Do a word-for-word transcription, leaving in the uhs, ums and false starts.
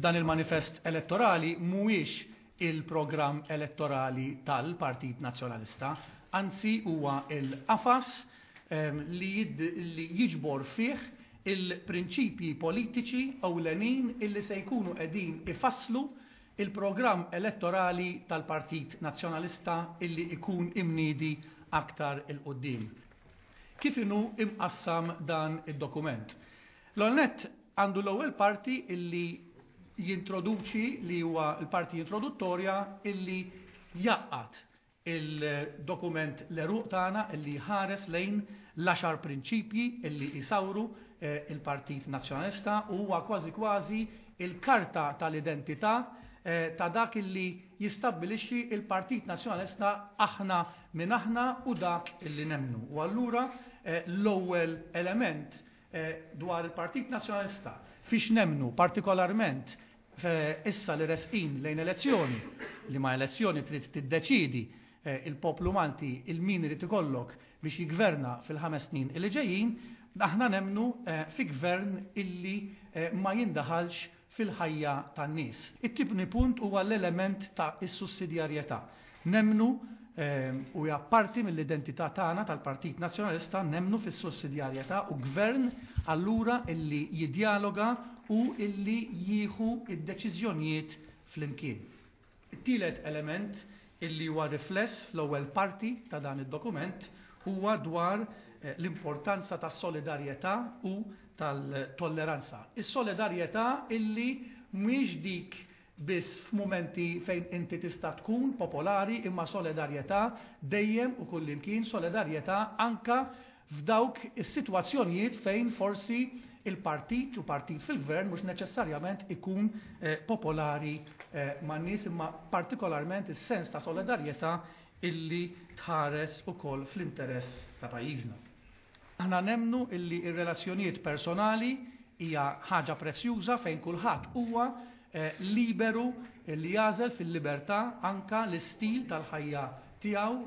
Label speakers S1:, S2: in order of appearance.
S1: Dan il-manifest elettorali mhuwiex il-programm elettorali tal-Partit Nazzjonalista, anzi huwa il-qafas li, li jiġbor fih il-prinċipji politiċi ewlenin illi se jkunu qegħdin ifasslu il-programm elettorali tal-Partit Nazzjonalista illi ikun imniedi aktar 'il quddiem. Kif inhu imqassam dan id-dokument? L-ewwel għandu l-ewwel parti illi jintroduċi, li huwa l-parti introduttorja, illi jgħaqqad il-dokument L-Għeruq Tagħna, illi ħares lejn l-għaxar prinċipji illi jisawru eh, il-Partit Nazzjonalista u huwa kważi kważi il-karta tal-identità eh, ta' dak illi jistabbilixxi il-Partit Nazzjonalista, aħna min aħna u dak illi nemmnu. U allura eh, l-ewwel element dwar il-Partit Nazzjonalista, fiex nemmnu, partikolarment issa li resqin lejn elezzjoni, li ma elezzjoni trid tiddeċidi il-poplu Malti 'il min irid ikollok biex jigverna fil-ħames snin illi ġejjin, aħna nemmnu fi gvern illi ma jindaħalx fil-ħajja tan-nies. It-tieni punt huwa l-element ta' is-sussidjarjetà. Nemmnu, u hija parti mill-identità tagħna tal-Partit Nazzjonalista, nemmnu fis-sussidjarjetà u gvern allura illi jidjaloga u illi jieħu id-deċiżjonijiet flimkien. It-tielet element illi huwa rifless fl-ewwel parti ta' dan id-dokument huwa dwar l-importanza ta' solidarjetà u tal-tolleranza. Is-solidarjetà illi mhix dik biss f'mumenti fejn inti tista' tkun popolari, imma solidarjetà dejjem u kullimkien, solidarjetà anka f'dawk is-sitwazzjonijiet fejn forsi il-partit u partit fil-gvern mhux neċessarjament ikun eh, popolari eh, man-nies, imma partikolarment is-sens ta' solidarjetà illi tħares ukoll fl-interess ta' pajjiżna. Aħna nemmnu illi ir-relazzjonijiet personali hija ħaġa prezzjuża, fejn kulħadd huwa eh, liberu li jagħżel fil-libertà anka l-istil tal-ħajja tiegħu.